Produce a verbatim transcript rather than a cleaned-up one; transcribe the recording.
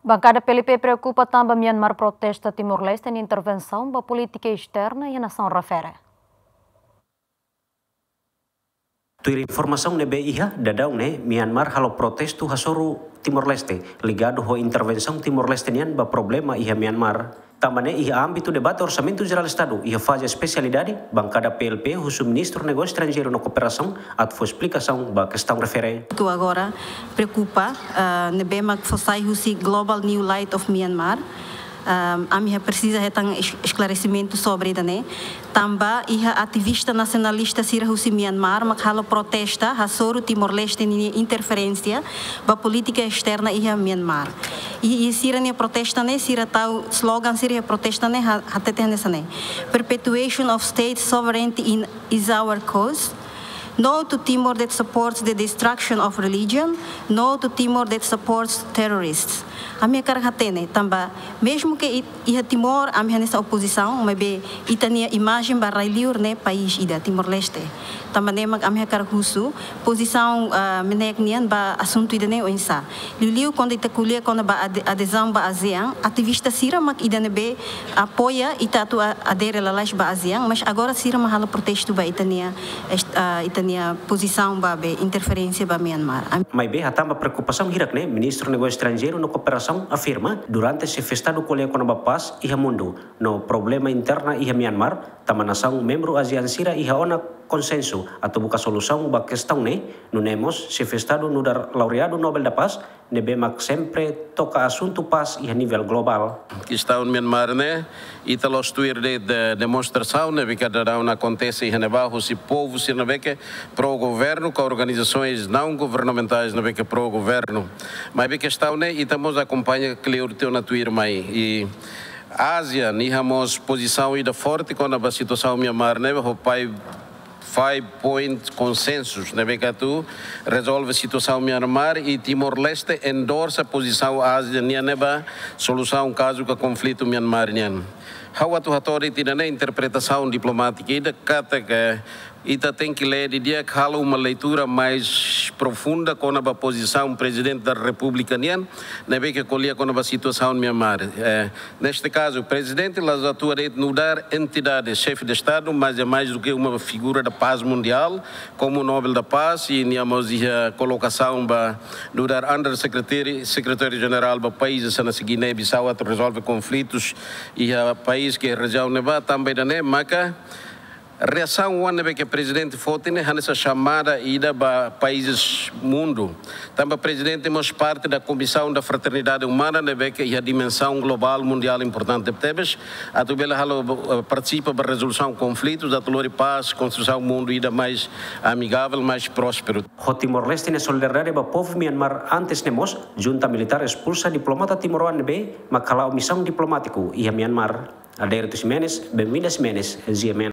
Bankada P L P preokupa tanba Myanmar protesta Timor-Leste nia intervensaun ba polítika esterna iha nasaun refere. Tuir informasaun ne'ebé iha, daudaun ne'e Myanmar halo protestu hasoru Timor-Leste, ligadu ho intervensaun Timor-Leste nian ba problema iha Myanmar. Tanba ne'e iha ámbitu debate Orsamentu Jerál Estadu iha faze espesialidade, bankada P L P husu Ministru Negósiu Estranjeiru no Kooperasaun atu fó esplikasaun ba kestaun refere. Atu agora preokupa, ah, ne'ebé mak fó sai husi Global New Light of Myanmar. Ah, ami iha presiza hetan es-, esklaresimentu sobre ida-ne'e. Tanba iha ativista nasionalista sira husi Myanmar mak halo protesta hasoru Timor-Leste nia interferénsia ba polítika esterna iha Myanmar. I, i sira-nia protesta ne'e, sira tau slogan sira iha protesta ne'e ha-, hatete hanesan ne'e: "Perpetuation of state sovereignty in, is our cause. No to Timor that supports the destruction of religion. No to Timor that supports terrorists." Ami hakarak hatene, tanba mezmu ke it-, iha Timor ami hanesan opozisaun, maibé ita-nia imajen ba rai-liur ne'e país ida, Timor-Leste. Tanba ne'e mak ami hakarak husu pozisaun, ah, MNEK nian ba asuntu ida-ne'e oinsá. Liuliu kuandu ita ko'alia kona-ba ade-, adezaun ba ASEAN, ativista sira mak ida ne'ebé apoia ita atu a-, adere lalais ba ASEAN, mas agora sira mak halo protestu ba ita-nia est-, ah, ita-nia pozisaun ba be interferénsia ba Myanmar. Am- Maibé hatán ba preokupasaun hirak ne'e, Ministru Negósiu Estranjeiru no Kooperasaun afirma, durante Xefe Estadu ko'alia kona-ba pás iha mundu no problema interna iha Myanmar, tanba nasaun membru ASEAN sira iha ona konsensu atu buka solusaun ba kestaun ne'e, nune'e mós Xefe Estadu nu'udar laureadu Nobel da Paz, ne'ebé mak sempre toka asuntu pás iha nivel globál. Kestaun Myanmar ne'e, ita la'ós tuir de'it demonstrasaun ne'ebé ke daudaun akontese iha ne'ebá husi povu sira ne'ebé ke pró-governu, ka organizasoens naun governamentais ne'ebé ke pró-governu. Maibé kestaun ne'e, ita mós akompaña kleur tiha ona tuirmai. I ASEAN iha mós pozisaun ida forte kona-ba situasaun Myanmar ne'e, ho pai five point consensus ne'ebé ke atu rezolve situasaun Myanmar, i Timor-Leste endorsa pozisaun ASEAN nian ne'e ba solusaun kazu ka konflitu Myanmar nian. Ha'u atu hato'o de'it ida-ne'e interpretasaun diplomátika ida katak ita tenke lee didi'ak, halo uma leitura mais profunda kona-ba pozisaun Prezidente da Repúblika nian ne'ebé ke ko'alia kona-ba situasaun Myanmar. Eh, neste kazu, Prezidente la'ós atua de'it nu'udar entidade, Xefe de Estadu, mas é mais do que uma figura da paz mundial, como Nobel da Paz, i nia mós iha kolokasaun ba nu'udar Under Secretary, Sekretáriu Jerál ba país hanesan Guiné-Bissau atu rezolve konflitus iha país ka rejiaun ne'ebá, tanba ida-ne'e maka reasaun oan ne'ebé ke Prezidente foti ne'e hanesan xamada ida ba países mundu. Tanba Prezidente mós parte da Comissão da Fraternidade Humana ne'ebé ke iha dimensaun globál mundiál importante tebes, atu bele halo, eh, partisipa ba rezolusaun konflitus, atu lori pás, konstrusaun mundu ida mais amigável, mais prósperu. Ho Timor-Leste nia solidariedade ba povu Myanmar, antes ne'e mós junta militár espulsa diplomata timoroan ne'ebé mak hala'o misaun diplomátiku iha Myanmar. Adérito Ximenes, Benvinda Ximenes, G M N.